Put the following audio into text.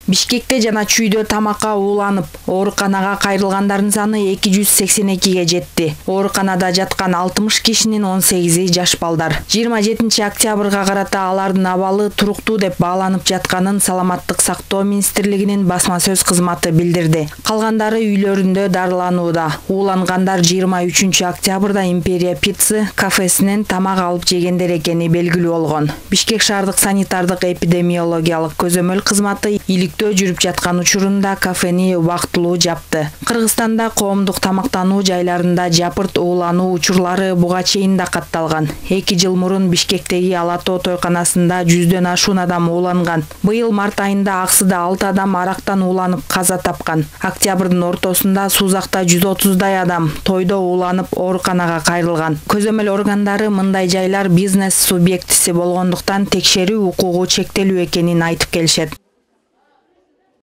Бишкекте жана Чүйдө тамакка ууланып, ооруканага кайрылгандардын саны 282ге жетти. Ооруканада жаткан 60 кишинин 18-и жаш балдар. 27 октябрга карата алардын абалы туруктуу деп бааланып жатканын Саламаттык сактоо министрлигинин басма сөз кызматы билдирди. Калгандары үйлөрүндө дарыланууда. Уулангандар 23 октябрда Империя пицца кафесинен тамак алып жегендер экени белгилүү болгон. Бишкек шаардык санитардык эпидемиологиялык көзөмөл кызматы иликтөө жүрүп жаткан учурунда кафени убактылуу жапты. Кыргызстанда коомдук тамактануу жайларында жапырт уулануу учурлары буга чейин да катталган. 2 жыл мурун Бишкектеги Ала Тоо тойканасында 100дөн ашуун адам ууланган. Быйыл март айында Аксыда 6 адам арактан ууланып каза тапкан. Октябрдын ортосунда Сузакта 130дай адам тойдо ууланып ооруканага кайрылган. Көзөмөл органдары мындай жайлар бизнес субъектиси болгондуктан текшерүү укугу чектелүү экенин айтып келишет.